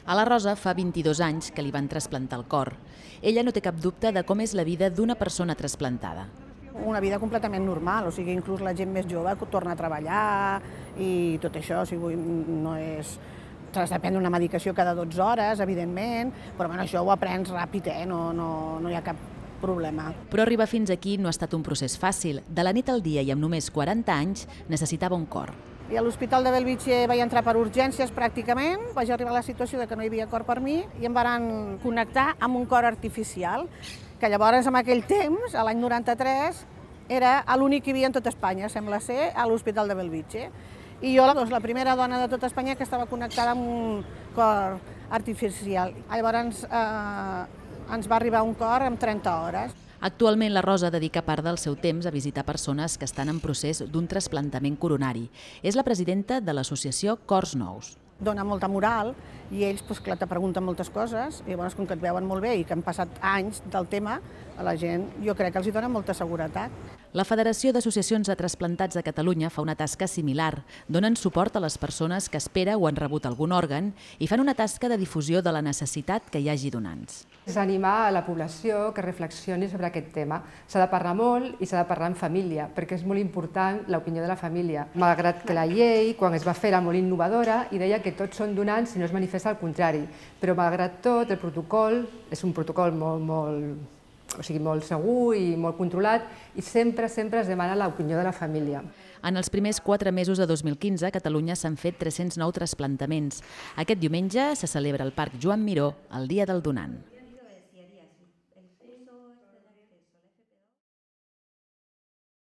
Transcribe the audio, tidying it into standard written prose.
A la Rosa fa 22 anys que li van trasplantar el cor. Ella no té cap dubte de com és la vida d'una persona trasplantada. Una vida completament normal, o sigui, inclús la gent més jove torna a treballar i tot això, o sigui, no és... T'has de prendre una medicació cada 12 hores, evidentment, però bueno, això ho aprens ràpid, no hi ha cap problema. Però arribar fins aquí no ha estat un procés fàcil. De la nit al dia i amb només 40 anys necessitava un cor. I a l'Hospital de Bellvitge vaig entrar per urgències pràcticament, vaig arribar a la situació de que no hi havia cor per mi i em van connectar amb un cor artificial, que llavors en aquell temps, a l'any 93, era l'únic que hi havia en tot Espanya, sembla ser, a l'Hospital de Bellvitge. I jo, la primera dona de tot Espanya que estava connectada amb un cor artificial. Llavors ens va arribar un cor en 30 hores. Actualment la Rosa dedica part del seu temps a visitar persones que estan en procés d'un trasplantament coronari. És la presidenta de l'associació Cors Nous. Dona molta moral i ells, clar, te pregunten moltes coses i llavors, com que et veuen molt bé i que han passat anys del tema, a la gent jo crec que els dona molta seguretat. La Federació d'Associacions de Trasplantats de Catalunya fa una tasca similar. Donen suport a les persones que espera o han rebut algun òrgan i fan una tasca de difusió de la necessitat que hi hagi donants. És animar a la població que reflexioni sobre aquest tema. S'ha de parlar molt i s'ha de parlar en família, perquè és molt important l'opinió de la família. Malgrat que la llei, quan es va fer, era molt innovadora i deia que tots són donants si no es manifesta el contrari. Però malgrat tot, el protocol és un protocol molt segur i molt controlat i sempre es demana l'opinió de la família. En els primers 4 mesos de 2015, a Catalunya s'han fet 309 trasplantaments. Aquest diumenge se celebra al Parc Joan Miró el Dia del Donant.